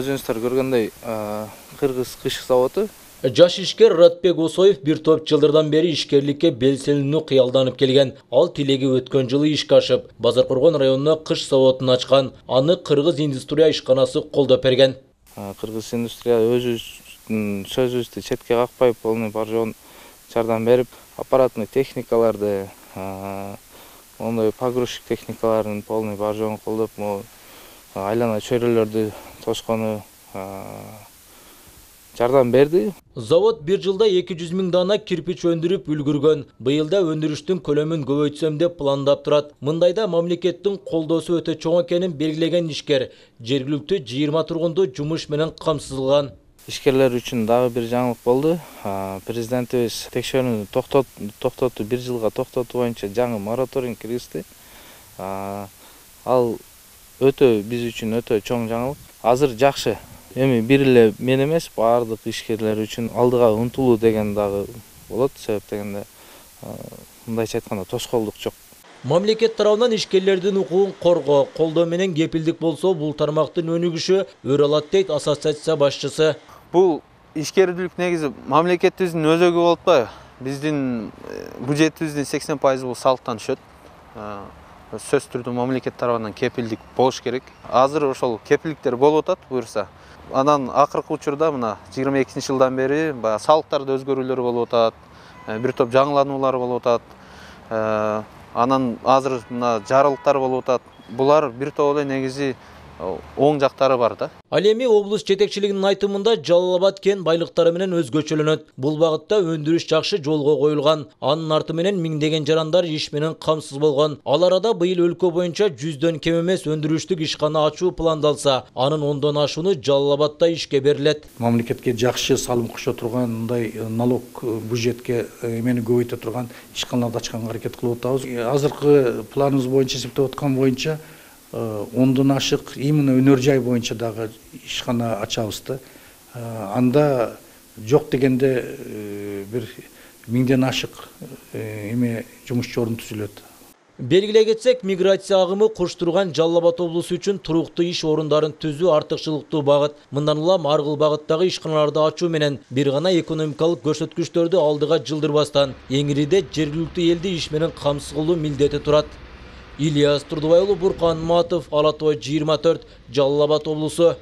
Өзүңүздөр көргөндөй Кыргыз кышык заводу. Жаш ишкер Ратбек Осоев бир топ жылдардан бери ишкерликке белселенүү кыялданып келген. Ал тилеги өткөн жылы ишке ашып, Базаркоргон районуна кыш заводун ачкан. Аны Кыргыз индустрия ишканасы колдоп берген. Кыргыз индустрия өзүбүздүн сөзүбүздү четке какпай, полный бар жоон жардам берип, аппаратный техникаларды, ондой погрузчик техникаларын полный бар жоон колдоп, айлана чөйрөлөрдү тошкону жардам берди. Завод бир жылда 200 000 дана кирпич өндүрүп үлгүргөн. Быйылда өндүрүштүн көлөмүн көбөйтсөм деп пландап турат. Мындайда мамлекеттин колдоосу өтө чоң экенин белгилеген ишкер жергиликтүү 20 тургунду жумуш менен камсыздалган. Ишкерлер үчүн дагы бир жаңылык болду. Президентибиз текшерүүнү токтотуу, бир жылга токтотуу боюнча жаңы мораторий киргизди. Ал биз үчүн өтө чоң жаңылык. Азыр жакшы. Эми бир эле мен эмес, баардык ишкерлер үчүн алдыга умтулуу деген дагы болот. Себеп дегенде, мындайча айтканда, тоскоолдук жок. Мамлекет тарабынан ишкерлердин укугун коргоо, колдоо менен кепилдик болсо, бул тармактын өнүгүшү өрө алат дейт ассоциация башчысы. Бул ишкердүүлүк негизи мамлекетибиздин өзөгү болуп атпайбы? Биздин бюджетибиздин 80% бул салыктан түшөт. Сөзсүз түрдө мамлекет тарабынан кепилдик болуш керек. Азыр ошол кепилдиктер болуп атат буюрса. Анан акыркы учурда мына 22-жылдан бери салыктарда өзгөрүүлөр болуп атат, бир топ жаңылануулар болуп атат. Анан азыр мына жарылыктар болуп атат. Булар бир топ эле негизи оң жактары бар да. Ал эми облус жетекчилигинин айтымында Жалал Абад кен байлыктары менен өзгөчөлөнөт. Бул багытта өндүрүш жакшы жолго коюлган. Анын арты менен миңдеген жарандар иш менен камсыз болгон. Ал арада быйыл өлкө боюнча 100дөн кем эмес өндүрүштүк ишкана ачуу пландалса, анын 10дон ашууну Жалал Абадда ишке берилет. Мамлекетке жакшы салым кошо турган, мындай налог бюджетке эмени көбөйтө турган ишканаларды ачканга аракет кылып атабыз. Азыркы планыбыз боюнча, эсептеп аткан боюнча 10дон ашык именно өнөр жай боюнча дагы ишкана ачабыз да. Анда жок дегенде бир 1000ден ашык эме жумушчу орун түзүлөт. Белгилей кетсек, миграция агымы куш турган Жалал Абад облусу үчүн туруктуу иш орундарын түзүү артыкчылыктуу багыт. Мындан улам аргыл багыттагы ишканаларды ачуу менен бир гана экономикалык көрсөткүчтөрдү алдыга жылдырбастан, эңириде жергиликтүү элди иш менен камсыз кылуу милдети турат. Ильяс Турдубай уулу, Буркан Матов, Ала Тоо 24, Жалал Абад облусу.